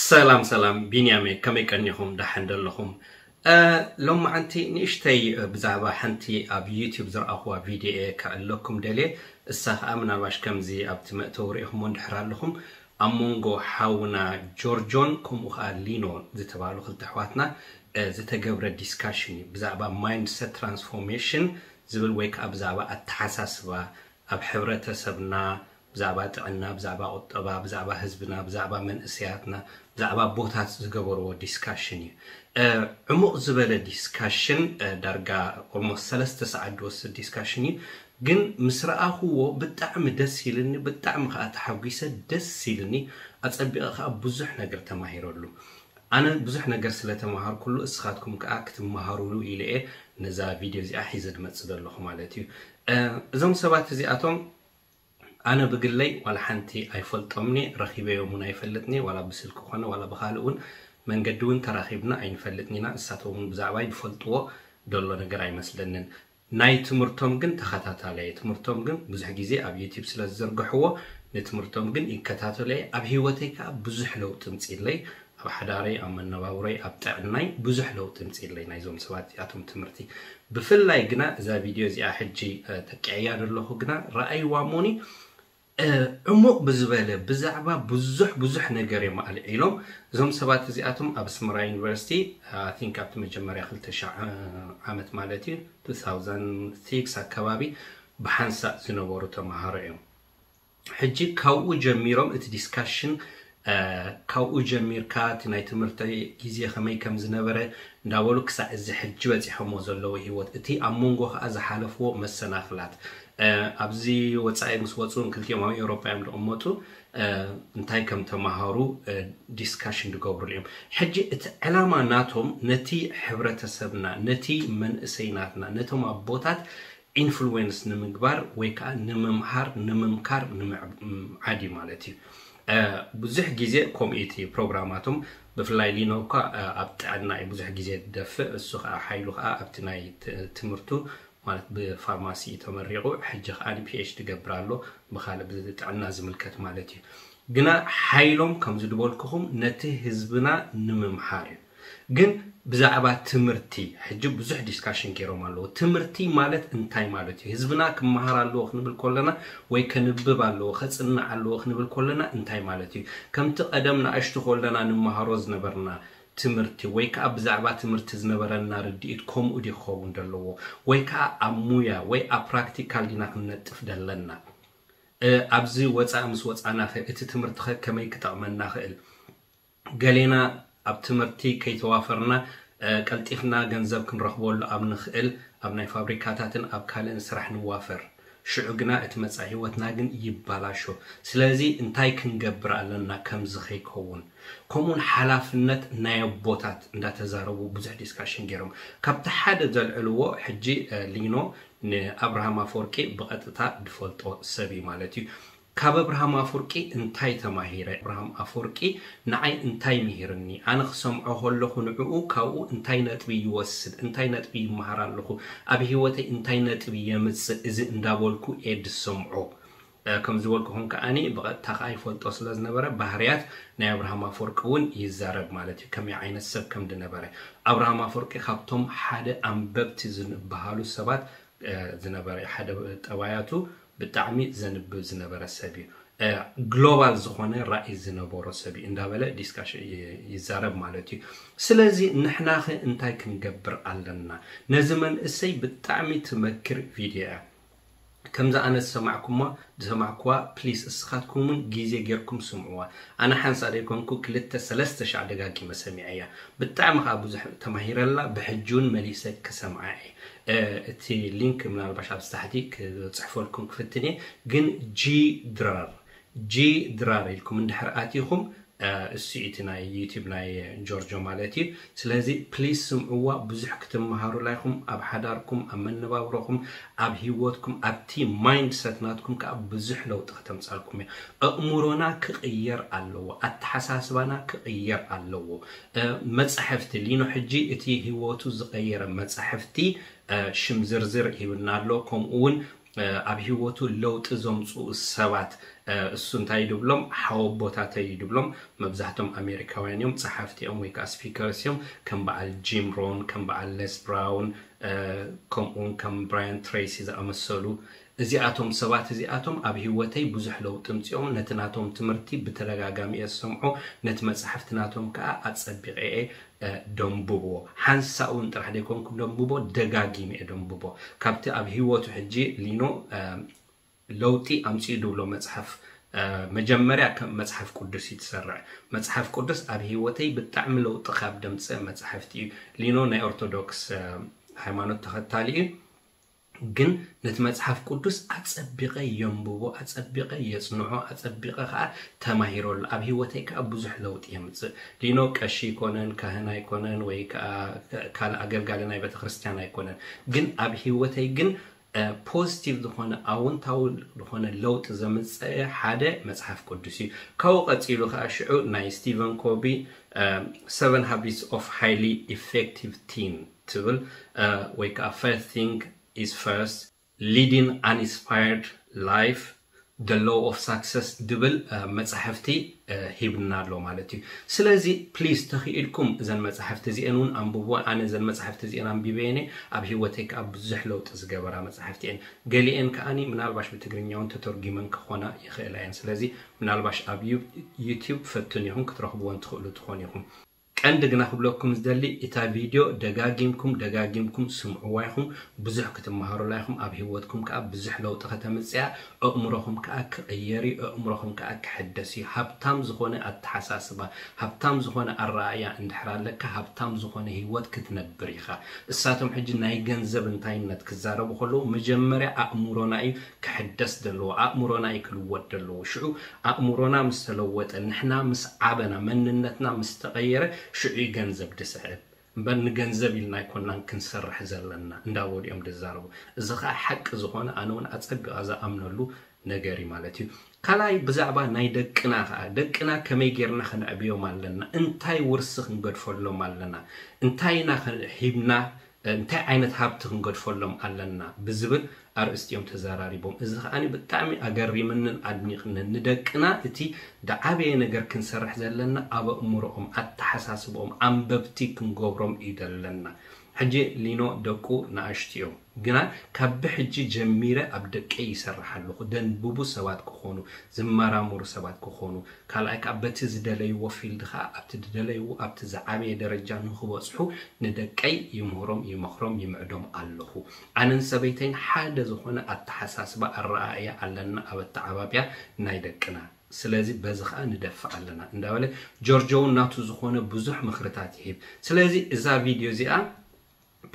ሰላም ሰላም፣ ቢንያም እየ። ከመይ ቀኒኹም? ደሓን ዶ ኣለኹም? እ፣ ሎማዓንቲ ንእሽተይ፣ እ፣ ብዛዕባ ሓንቲ ኣብ ዩቲዩብ ዝረኣኹዋ ቪድዮ እየ ከዕለኩም ደልየ። እሳ ኸኣ ምናልባሽ ከምዚ ኣብቲ መእተዊ ርኢኹሞ እንድሕር ኣለኹም፣ ኣብ መንጎ ሓውና ጆርጆን ከምኡ ኸኣ ሊኖ ዝተባህሉ ክልተ ኣሕዋትና፣ እ፣ ዝተገብረ ዲስካሽን እዩ። ብዛዕባ ማይንድሰት ትራንስፎርሜሽን ዝብል ወይ ከኣ ብዛዕባ ኣተሓሳስባ ኣብ ሕብረተሰብና፣ ብዛዕባ ጥዕና፣ ብዛዕባ ቁጠባ፣ ብዛዕባ ህዝብና፣ ብዛዕባ መንእሰያትና፣ ብዛዕባ ኣቦታት ዝገበርዎ ዲስካሽን እዩ። እ፣ ዕሙቕ ዝበለ ዲስካሽን፣ እ፣ ዳርጋ ኦልሞስት ሰለስተ ሰዓት ዝወስድ ዲስካሽን እዩ። ግን ምስ ረኣኹዎ ብጣዕሚ ደስ ኢልኒ፣ ብጣዕሚ ከኣ ተሓጒሰ፣ ደስ ኢልኒ። ኣጸቢቐ ከኣ ብዙሕ ነገር ተማሂረሉ። ኣነ ብዙሕ ነገር ስለ ተማሃርኩሉ፣ እስኻትኩም ከኣ ክትመሃሩሉ ኢለ እየ ነዛ ቪድዮ እዚኣ ሒዘ ዝመጽእ ዘለኹ ማለት እዩ። እ፣ እዞም ሰባት እዚኣቶም ኣነ ብግለይ ዋላ ሓንቲ ኣይፈልጦምኒ፣ ረኺበዮም እውን ኣይፈልጥኒ፣ ዋላ ብስልኪ ኮነ ዋላ ብኻልእ እውን መንገዲ እውን ተራኺብና ኣይንፈልጥን ኢና። እሳቶም እውን ብዛዕባይ ዝፈልጥዎ ዘሎ ነገር ኣይመስለንን። ናይ ትምህርቶም ግን ተኸታታላይ እየ። ትምህርቶም ግን ብዙሕ ግዜ ኣብ ዩቲዩብ ስለ ዝዘርግሕዎ ንትምህርቶም ግን ይከታተሎ እየ። ኣብ ህይወተይ ከኣ ብዙሕ ለውጢ ምጽኢለይ፣ ኣብ ሓዳረይ፣ ኣብ መነባብሮይ፣ ኣብ ጥዕናይ ብዙሕ ለውጢ ምጽኢለይ ናይዞም ሰባት እዚኣቶም ትምህርቲ። ብፍላይ ግና እዛ ቪድዮ እዚኣ ሕጂ፣ እ፣ ተቂዐያ ዘለኹ ግና ረኣይዋ እሞኒ፣ እ፣ ዕሙቕ ብዝበለ ብዛዕባ ብዙሕ ብዙሕ ነገር እዮም ኣልዒሎም። እዞም ሰባት እዚኣቶም ኣብ ኣስመራ ዩኒቨርሲቲ፣ I think ኣብቲ መጀመርያ ክልተ ሽሕ ዓመት ማለት እዩ፣ two thousand six ኣከባቢ ብሓንሳእ ዝነበሩ ተማሃሮ እዮም። ሕጂ ካብኡ ጀሚሮም እቲ ዲስካሽን፣ እ፣ ካብኡ ጀሚርካ እቲ ናይ ትምህርቲ ግዜ ከመይ ከም ዝነበረ እንዳበሉ ክሳዕ እዚ ሕጂ በጺሖሞ ዘለዉ ህይወት፣ እቲ ኣብ መንጎ ከኣ ዝሓለፍዎ መሰናኽላት፣ እ፣ ኣብዚ ወጻኢ ምስ ወጹ ክልቲኦም ኣብ ኤውሮጳ እዮም ዝቕመጡ፣ እ፣ እንታይ ከም ተማሃሩ፣ እ፣ ዲስካሽን ዝገብሩሉ እዮም። ሕጂ እቲ ዕላማ ናቶም ነቲ ሕብረተሰብና፣ ነቲ መንእሰይ ናትና፣ ነቶም ኣቦታት ኢንፍሉዌንስ ንምግባር ወይ ከኣ ንምምሃር፣ ንምምካር፣ ንምዕዓድ እዩ ማለት እዩ። እ፣ ብዙሕ ግዜ ከምኡ እቲ ፕሮግራማቶም፣ ብፍላይ ሊኖ እኳ፣ እ፣ ኣብ ጥዕና እዩ ብዙሕ ግዜ ዝደፍእ፣ እሱ ከኣ ሓይሉ ከኣ ኣብቲ ናይ ት-፣ ትምህርቱ ማለት ብፋርማሲ እዩ ተመሪቑ፣ ሕጂ ከኣ ፒ ኤች ዲ ይገብር ኣሎ፣ ብኻልእ ብጥዕና ዝምልከት ማለት እዩ። ግና ሓይሎም ከምዚ ዝበልኩኹም ነቲ ህዝብና ንምምሃር እዩ። ግን ብዛዕባ ትምህርቲ ሕጂ ብዙሕ ዲስካሽን ገይሮም ኣለዉ። ትምህርቲ ማለት እንታይ ማለት እዩ? ህዝብና ክመሃር ኣለዎ ክንብል ከለና ወይ ከንብብ ኣለዎ፣ ከጽንዕ ኣለዎ ክንብል ከለና እንታይ ማለት እዩ? ከምቲ ቀደም ንኣሽቱ ከለና ንመሃሮ ዝነበርና ትምህርቲ ወይ ከኣ ብዛዕባ ትምህርቲ ዝነበረና ርድኢት ከምኡ ድዩ ክኸውን ዘለዎ? ወይ ከኣ ኣብ ሙያ ወይ ኣብ ፕራክቲካል ዲና ክንነጥፍ ደለና? እ፣ ኣብዚ ወጻኢ ምስ ወጻና ኸ እቲ ትምህርቲ ኸ ከመይ ክጠቕመና ኽእል? ገሌና ኣብ ትምህርቲ ከይተዋፈርና፣ እ፣ ቀልጢፍና ገንዘብ ክንረኽበሉ ኣብ ንኽእል ኣብ ናይ ፋብሪካታትን ኣብ ካልእን ስራሕ ንዋፈር። ሽዑ ግና እቲ መጻኢ ህይወትና ግን ይባላሾ። ስለዚ እንታይ ክንገብር ኣለና ከምዚ ከይከውን? ከምኡውን ሓላፍነት ናይ ኣቦታት እንዳተዛረቡ ብዙሕ ዲስካሽን ገይሮም። ካብቲ ሓደ ዘልዕልዎ ሕጂ፣ እ፣ ሊኖ ንኣብርሃም ኣፈወርቂ ብቐጥታ ዝፈልጦ ሰብ እዩ ማለት እዩ። ካብ ኣብርሃም ኣፈወርቂ እንታይ ተማሂረ? ኣብርሃም ኣፈወርቂ ንዓይ እንታይ ምሂርኒ? ኣነ ክሰምዖ ከለኹ ንዕኡ ካብኡ እንታይ ነጥቢ ይወስድ? እንታይ ነጥቢ ይመሃር ኣለኹ? ኣብ ህይወተይ እንታይ ነጥቢ የምጽእ? እዚ እንዳበልኩ እየ ዝሰምዖ። እ፣ ከም ዝበልኩኹም ከኣኒ ብቐጥታ ከኣ ይፈልጦ ስለ ዝነበረ ባህርያት ናይ ኣብርሃም ኣፈወርቂ እውን ይዛረብ ማለት እዩ። ከመይ ዓይነት ሰብ ከም ዝነበረ። ኣብርሃም ኣፈወርቂ ካብቶም ሓደ ኣንበብቲ ዝበሃሉ ሰባት፣ እ፣ ዝነበረ፣ ሓደ ጠባያቱ ብጣዕሚ ዘንብብ ዝነበረ ሰብ እዩ። እ፣ ግሎባል ዝኾነ ራእይ ዝነበሮ ሰብ እዩ እንዳበለ ዲስካሽን ይ-፣ ይዛረብ ማለት እዩ። ስለዚ ንሕናኸ እንታይ ክንገብር ኣለና? ነዚ መንእሰይ ብጣዕሚ ትመክር ቪድዮ እያ። ከምዚ ኣነ ዝሰማዕኩማ፣ ዝሰማዕኩዋ፣ ፕሊስ እስኻትኩም እውን ግዜ ጌርኩም ስምዕዋ። ኣነ ሓንሳእ ዘይኮንኩ ክልተ ሰለስተ ሻዕ ደጋጊመ ሰሚዐያ። ብጣዕሚ ከኣ ብዙሕ ተማሂረላ፣ ብሕጂ እውን መሊሰ ክሰምዓ እየ። እ፣ እቲ ሊንክ ምናልባሽ ኣብ ታሕቲ ክጽሕፈልኩም ክፍትን እየ። ግን ጂ ድራር፣ ጂ ድራር ኢልኩም እንድሕር ኣቲኹም፣ እ፣ እሱ እዩ እቲ ናይ ዩቲዩብ ናይ ጆርጆ ማለት እዩ። ስለዚ ፕሊስ ስምዕዋ፣ ብዙሕ ክትመሃሩላ ኢኹም። ኣብ ሓዳርኩም፣ ኣብ መነባብሮኹም፣ ኣብ ህይወትኩም፣ ኣብቲ ማይንድሰት ናትኩም ከኣ ብዙሕ ለውጢ ከተምጻልኩም እያ። ኣእምሮና ክቕየር ኣለዎ፣ ኣተሓሳስባና ክቕየር ኣለዎ። እ፣ መጻሕፍቲ ሊኖ ሕጂ እቲ ህይወቱ ዝቐየረ መጻሕፍቲ፣ እ፣ ሽም ዝርዝር ሂብና ኣሎ። ከምኡ እውን ኣብ ህይወቱ ለውጢ ዘምፅኡ ሰባት እሱ እንታይ ድብሎም ሓወቦታተይ ድብሎም። መብዛሕቶም ኣሜሪካውያን እዮም፣ ፀሓፍቲ እዮም ወይ ከዓ ስፒከርስ እዮም። ከም በዓል ጂም ሮን፣ ከም በዓል ሌስ ብራውን፣ ከምኡውን ከም ብራያን ትሬሲ ዝኣመሰሉ እዚኣቶም ሰባት እዚኣቶም ኣብ ህይወተይ ብዙሕ ለውጢ ምፅኦም። ነቲ ናቶም ትምህርቲ ብተደጋጋሚ እየ ዝሰምዖ፣ ነቲ መፅሓፍቲ ናቶም ከዓ ኣፀቢቐ እየ ደንብቦ። ሓንሳእ እውን ጥራሕ ዘይኮንኩ ደንብቦ፣ ደጋጊመ እየ ደንብቦ። ካብቲ ኣብ ህይወቱ ሕጂ ሊኖ ለውጢ ኣምፅኡ ድብሎ መፅሓፍ መጀመርያ ከም መፅሓፍ ቅዱስ እዩ ትሰርዕ። መፅሓፍ ቅዱስ ኣብ ህይወተይ ብጣዕሚ ለውጢ ካብ ደምፅእ መፅሓፍቲ እዩ። ሊኖ ናይ ኦርቶዶክስ ሃይማኖት ተኸታሊ እዩ። ግን ነቲ መፅሓፍ ቅዱስ ኣፀቢቐ የንብቦ፣ ኣፀቢቐ የፅንዖ፣ ኣፀቢቐ ከዓ ተማሂረሉ። ኣብ ህይወተይ ከዓ ብዙሕ ለውጢ የምፅእ። ሊኖ ቀሺ ኣይኮነን፣ ካህን ኣይኮነን፣ ወይ ከዓ ካልእ ኣገልጋሊ ናይ ቤተክርስትያን ኣይኮነን። ግን ኣብ ህይወተይ ግን ፖዚቲቭ ዝኾነ ኣውንታዊ ዝኾነ ለውጢ ዘምፀአ ሓደ መፅሓፍ ቅዱስ እዩ። ካብኡ ቀፂሉ ከዓ ሽዑ ናይ ስቲቨን ኮቪ Seven Habits of Highly Effective Teen ትብል ወይ ከዓ First Thing is First, Leading an Inspired Life, The Law of Success ድብል መፅሕፍቲ ሂብና ኣሎ ማለት እዩ። ስለዚ ፕሊዝ ተኽኢልኩም እዘን መፅሕፍቲ እዚአን እውን ኣንብቦ። ኣነ እዘን መፅሕፍቲ እዚአን ኣንቢበየን እየ፣ ኣብ ህይወተይ ከዓ ብዙሕ ለውጢ ዝገበራ መፅሕፍቲ እየን። ገሊአን ከዓኒ ምናልባሽ ብትግርኛ እውን ተተርጉመን ክኾና ይኽእላ እየን። ስለዚ ምናልባሽ ኣብ ዩ- ዩቲዩብ ፈትኑ ኢኹም ክትረኽብወን ትኽእሉ ትኾኑ ኢኹም። ቀንዲ ግና ክብለኩም ዝደሊ እታ ቪድዮ ደጋጊምኩም ደጋጊምኩም ስምዕዋ ኢኹም። ብዙሕ ክትመሃሩላ ኢኹም። ኣብ ህይወትኩም ከዓ ብዙሕ ለውጢ ከተምፅያ፣ ኣእምሮኹም ከዓ ክቕየር እዩ፣ ኣእምሮኹም ከዓ ክሕደስ እዩ። ሃብታም ዝኾነ ኣተሓሳስባ፣ ሃብታም ዝኾነ ኣረኣእያ እንድሕር ኣለካ፣ ሃብታም ዝኾነ ህይወት ክትነብር ኢኻ። እሳቶም ሕጂ ናይ ገንዘብ እንታይነት ክዛረቡ ከለዉ መጀመርያ ኣእምሮና እዩ ክሕደስ ዘለዎ፣ ኣእምሮና እዩ ክልወጥ ዘለዎ። ሽዑ ኣእምሮና ምስ ተለወጠ፣ ንሕና ምስ ዓበና፣ መንነትና ምስ ተቐየረ፣ ሽዑ እዩ ገንዘብ ድስዕብ። እምበር ንገንዘብ ኢልና ኣይኮናን ክንሰርሕ ዘለና እንዳበሉ እዮም ዝዛረቡ። እዚ ከዓ ሓቂ ዝኾነ ኣነ እውን ኣጸቢቐ ዝኣምነሉ ነገር እዩ ማለት እዩ። ካልኣይ ብዛዕባ ናይ ደቅና ከዓ፣ ደቅና ከመይ ጌርና ከነዕብዮም ኣለና፣ እንታይ ውርሲ ክንገድፈሎም ኣለና፣ እንታይ ኢና ከ- ሂብና እንታይ ዓይነት ሃብቲ ክንገድፈሎም ኣለና ብዝብል ኣርእስቲ እዮም ተዘራሪቦም። እዚ ከዓኒ ብጣዕሚ ኣገሪምንን ኣድኒቕንን። ንደቅና እቲ ዝዓበየ ነገር ክንሰርሕ ዘለና ኣብ ኣእምሮኦም፣ ኣተሓሳስብኦም፣ ኣንበብቲ ክንገብሮም እዩ ዘለና። ሕጂ ሊኖ ደቁ ንኣሽቱ እዮም፣ ግና ካብ ብሕጂ ጀሚረ ኣብ ደቀይ ይሰርሕ ኣለኹ። ደንብቡ ሰባት ክኾኑ፣ ዝመራመሩ ሰባት ክኾኑ፣ ካልኣይ ከዓ በቲ ዝደለይዎ ፊልድ ከዓ ኣብቲ ዝደለይዎ ኣብቲ ዝዓበየ ደረጃ ንክበፅሑ ንደቀይ ይምህሮም፣ ይመኽሮም፣ ይምዕዶም ኣለኹ። ኣነን ሰበይተይን ሓደ ዝኾነ ኣተሓሳስባ ኣረኣእያ ኣለና ኣብ ኣተዓባብያ ናይ ደቅና። ስለዚ በዚ ከዓ ንደፍእ ኣለና እንዳበለ ጆርጆ እውን ናቱ ዝኾነ ብዙሕ ምኽርታት ይህብ። ስለዚ እዛ ቪድዮ እዚኣ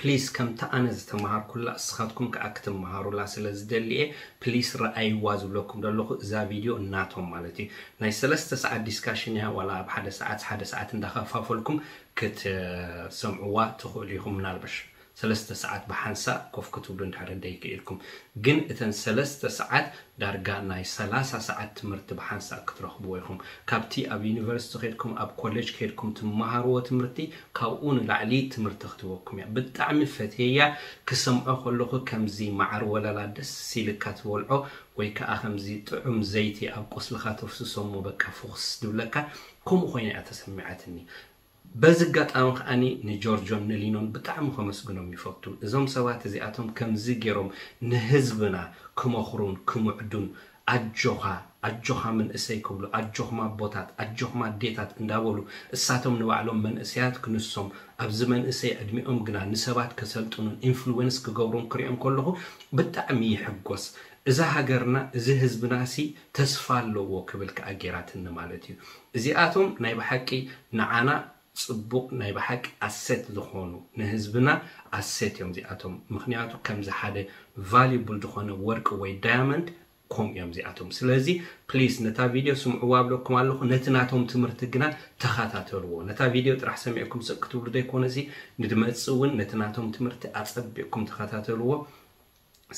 ፕሊስ ከምቲ ኣነ ዝተምሃርኩላ እስኻትኩም ከዓ ክትምሃሩላ ስለ ዝደሊ እየ። ፕሊስ ረኣይዋ ዝብለኩም ዘለኹ እዛ ቪድዮ እናቶም ማለት እዩ። ናይ ሰለስተ ሰዓት ዲስካሽን እያ፣ ዋላ ኣብ ሓደ ሰዓት ሓደ ሰዓት እንዳኸፋፈልኩም ክትሰምዕዋ ትኽእሉ ኢኹም። ምናልባሽ ሰለስተ ሰዓት ብሓንሳእ ኮፍ ክትብሉ እንድሕር ደይክኢልኩም፣ ግን እተን ሰለስተ ሰዓት ዳርጋ ናይ ሰላሳ ሰዓት ትምህርቲ ብሓንሳእ ክትረኽብዎ ኢኹም። ካብቲ ኣብ ዩኒቨርሲቲ ከድኩም ኣብ ኮሌጅ ከድኩም ትመሃርዎ ትምህርቲ ካብኡ ንላዕሊ ትምህርቲ ክትበኩም እያ። ብጣዕሚ ፈትየያ፣ ክሰምዖ ከለኹ ከምዚ መዓር ወለላ ደስ ኢልካ ትበልዖ ወይ ከዓ ከምዚ ጥዑም ዘይቲ ኣብ ቁስልኻ ተፍስሶ እሞ በቃ ፍኹስ ድብለካ፣ ከምኡ ኮይና እያ ተሰሚዓትኒ። በዚ ኣጋጣሚ ከዓኒ ንጆርጆን ንሊኖን ብጣዕሚ ከመስግኖም ይፈቱ። እዞም ሰባት እዚኣቶም ከምዚ ገይሮም ንህዝብና ክመኽሩን ክምዕዱን ኣጆኻ ኣጆኻ መንእሰይ ክብሉ ኣጆኹም ኣቦታት ኣጆኹም ኣዴታት እንዳበሉ እሳቶም ንባዕሎም መንእሰያት ክንሶም ኣብዚ መንእሰይ ዕድሚኦም ግና ንሰባት ከሰልጥኑን ኢንፍሉዌንስ ክገብሩን ክሪኦም ከለኹ ብጣዕሚ ይሕጎስ። እዛ ሃገርና እዚ ህዝብናሲ ተስፋ ኣለዎ ክብል ከዓ ገይራትኒ ማለት እዩ። እዚኣቶም ናይ ብሓቂ ንዓና ፅቡቕ ናይ ብሓቂ ኣሴት ዝኾኑ ንህዝብና ኣሴት እዮም እዚኣቶም። ምክንያቱ ከምዚ ሓደ ቫሉብል ዝኾነ ወርቂ ወይ ዳያመንድ ከምኡ እዮም እዚኣቶም። ስለዚ ፕሊስ ነታ ቪድዮ ስምዕዋ ኣብለኩም ኣለኹ፣ ነቲ ናቶም ትምህርቲ ግና ተኸታተልዎ። ነታ ቪድዮ ጥራሕ ሰሚዕኩም ስቕ ክትብሉ ዘይኮነሲ ንድመፅእ እውን ነቲ ናቶም ትምህርቲ ኣፀቢቕኩም ተኸታተልዎ።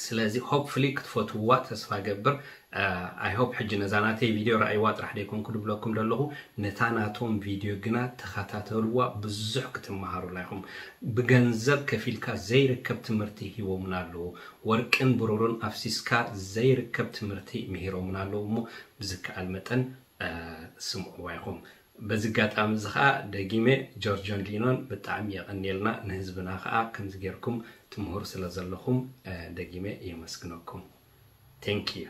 ስለዚ hopefully ክትፈትውዋ ተስፋ ገብር። I hope ሕጂ ነዛ ናተይ ቪድዮ ረኣይዋ ጥራሕ ደይኮንኩ ድብለኩም ዘለኹ፣ ነታ ናቶም ቪድዮ ግና ተኸታተልዋ፣ ብዙሕ ክትመሃሩላ ኢኹም። ብገንዘብ ከፊልካ ዘይርከብ ትምህርቲ ሂቦምና ኣለዉ። ወርቅን ብሩርን ኣፍሲስካ ዘይርከብ ትምህርቲ ምሂሮምና ኣለዉ እሞ ብዝከኣል መጠን ስምዕዋ ኢኹም። በዚ ኣጋጣሚ እዚ ከዓ ደጊመ ጆርጆን ሊኖን ብጣዕሚ የቐንየልና። ንህዝብና ከዓ ከምዚ ጌርኩም ትምህሩ ስለ ዘለኹም ደጊመ የመስግነኩም። Thank you።